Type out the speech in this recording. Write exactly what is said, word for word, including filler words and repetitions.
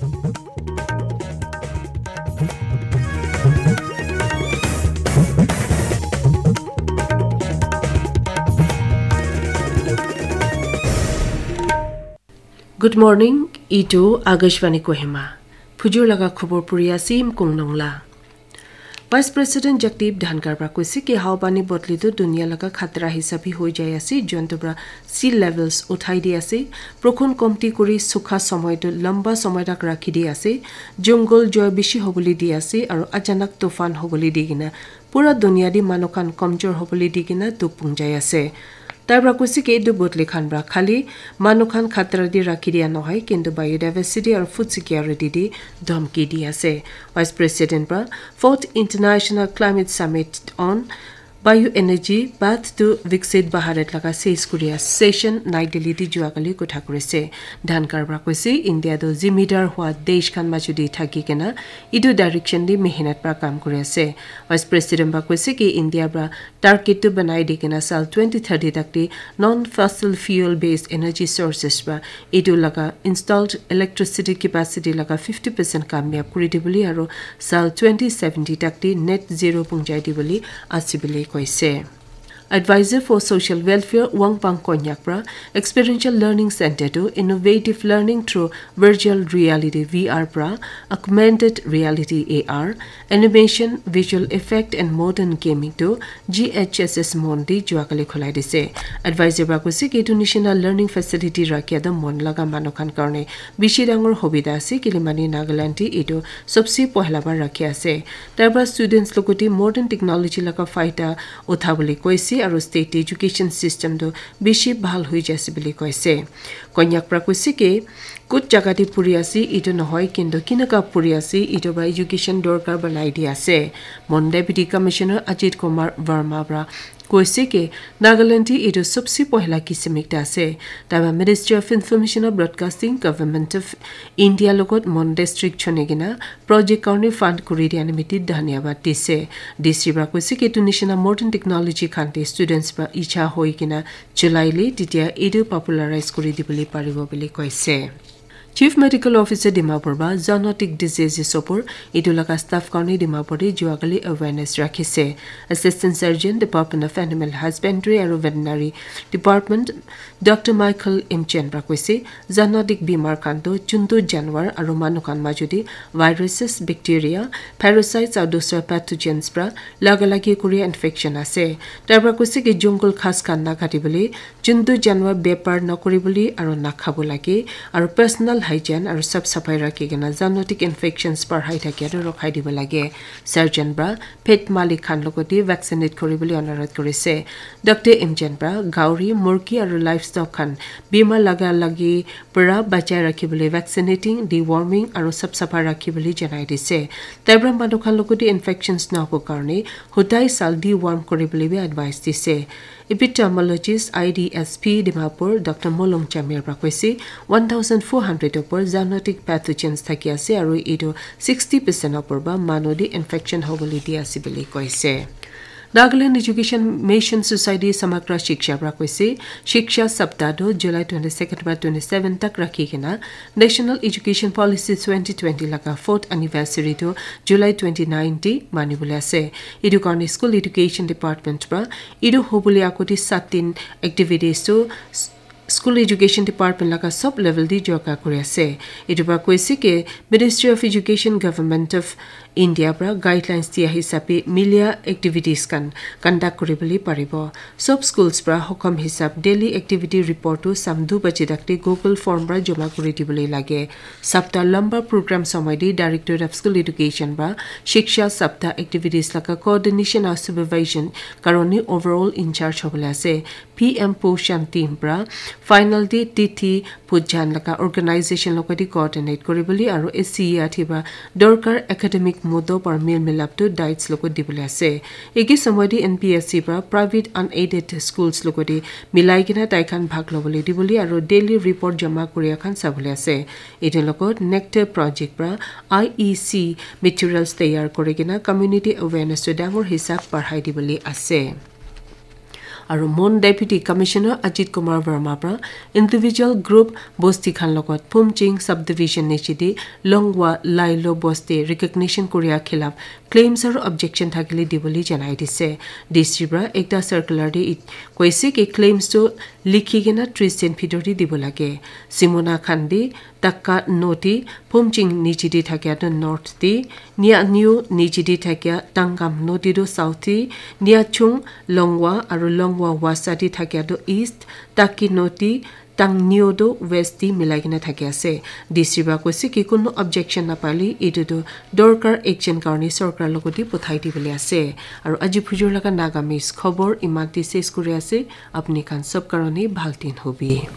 Good morning, itu Akashvani Kohima. Phujur laga khubor puri ase Mkung Nongla. Vice President Jagdeep Dhankhar pra koise ki hawa pani bodli tu dunia laga khatra hisabi hoi jai ase, jontu pra sea levels uthai di ase. Prokhon komti kuri sukha somoy tu lamba somoy tak rakhi di ase. Jungle joy bishi hobole di ase, aru achanak tufan hobole di kena pura dunia di manu khan komjor hobole di kena dukh pungjai ase. Tai pra koise ki etu bodli khan pra khali manu khan khatra di rakhi dia nohoi, kintu biodiversity aru food security di dhamki di ase. Vice President pra fourth International Climate Summit on Bioenergy Path to Viksit Bharat laga ses kuri ase session Nai Delhi di jua kali kotha kuri ase. Dhankhar pra koise India tu zimidar hua desh khan majo di thaki kena etu direction di mehnat pra kam kuri ase. Vice President pra koise ki India pra target tu banai di kena sal twenty thirty tak di non-fossil fuel based energy sources pra etu laga installed electricity capacity laga fifty percent kamyab kuri di bole aru sal twenty seventy tak di net zero pungjai di bole ase bole koise. Advisor for Social Welfare Wangpang Konyak pra Experiential Learning Center tu Innovative Learning through Virtual Reality V R pra Augmented Reality A R, Animation, Visual Effect and Modern Gaming tu G H S S Mon di juakali khulai dise. Advisor pra koise ki etu nishina learning facility rakhia tu mon laga manu khan karne bishi dangor hobida ase, kile mane Nagaland di etu sobse pohla bar rakhi ase. Tarpra students logote modern technology laga faida uthabole koise aru state education system tu bishi bhal hoi jaise bole koise. Konyak pra koise ki kut jaga te puri ase etu nohoi, kintu kinaka puri ase etu pra education dorkar banai di ase. Mon Deputy Commissioner Ajit Kumar Verma pra koise ki Nagaland te etu sobse pohla kisim ekta ase. Tarpra Ministry of Information and Broadcasting, Government of India logot Mon District chuni kena project karni fund kuri dia nimiti dhanyabad dise. D C pra koise ki etu nishina modern technology khan te students pra icha hoi kena July le titia etu popularize kuri dibole paribo bole koise. Chief Medical Officer Dimapur ba zoonotic diseases opor etu laga staff karni Dimapur te juakali awareness rakhise. Assistant Surgeon, Department of Animal Husbandry aru Veterinary Department, Doctor Michael Imchen pra koise, zoonotic bimar khan tu juntu janwar aru manu khan majo te viruses, bacteria, parasites aru dusra pathogens pra laga lagi kuri infection ase. Tarpra koise ki jungle ghas khan nakati bole, juntu janwar bepar nakuri bole aru nakhabo lage, aru personal hygiene aru sap saphai rakhi kena zoonotic infections parhai thakia tu rokhai dibo lage. Surgeon pra pet malik khan logote vaccinate kuri bole anurodh kurise. Doctor Imchen pra gauri, murgi aru livestock khan bimar laga lagi pra bachai rakhi bole vaccinating, deworming aru sap sapha rakhi bole janai dise. Tarpra manu khan logote infections nohobo karne hodai sal deworm kuri bole bi advice dise. Epidemiologist I D S P Dimapur Doctor Molong Chamir pra koise one thousand four hundred opor zoonotic pathogens thaki ase aru etu sixty percent opor ba manu te infection hobole di ase bole koise. Nagaland Education Mission Society Samagra Shiksha pra koise, Shiksha Saptah tu July twenty-second pra twenty-seven tak rakhi kena National Education Policy twenty twenty laga fourth anniversary tu July twenty-nine te mani bole ase. Etu karne School Education Department pra etu hobole agote sat din activities tu s- School Education Department laga sob level te jorka kuri ase. Etu pra koise ki Ministry of Education, Government of India pra guidelines dia hisabe milia activities khan conduct kuri bole paribo. Sob schools pra hukum hisab daily activity report tu sam du baje tak te Google form pra joma kuri dibole lage. Saptah lamba program somoy te Directorate of School Education pra Shiksha Saptah activities laga coordination aru supervision karone overall in charge hobole ase. P M Poshan team pra final te Tithi Pujan laga organization logote coordinate kuri bole aru S C E R T pra dorkar academic mudo par mil milap tu dates logot dibole ase. Eki somoy te N P S C pra private unaided schools logote milai kena tai khan bhag lobole dibole aru daily report jama kuria khan sabole ase. Etu logot Nectar Project pra I E C materials tayar kuri kena community awareness tu dangor hisab parhai dibole ase. Aru Mon Deputy Commissioner Ajit Kumar Verma pra individual group bosti khan logot Phumching subdivision nichidi Longwa Lailo bosti recognition koria khilaf claims aru objection thakile dibole janai dise. D C pra ekta circular de it-, koise ki claims tu likhi kena tris din bhitor de dibo lage. Simona khan bi Taka noti Phumching nichidi thakia tu north de, Nia Niu nichidi thakia Tangam noti tu south de, Nia Chung Longwa aru Longwa Wasa de thakia tu east, Taki noti Tang Niu tu west de milai kena thaki ase. D C pra koise ki kunu objection napale itu tu dorkar action karone sorkar logot de pothai dibole ase. Aru aji phujur laga Nagamese khobor iman de ses kuri ase. Apni khan sob karone bhal din hobi.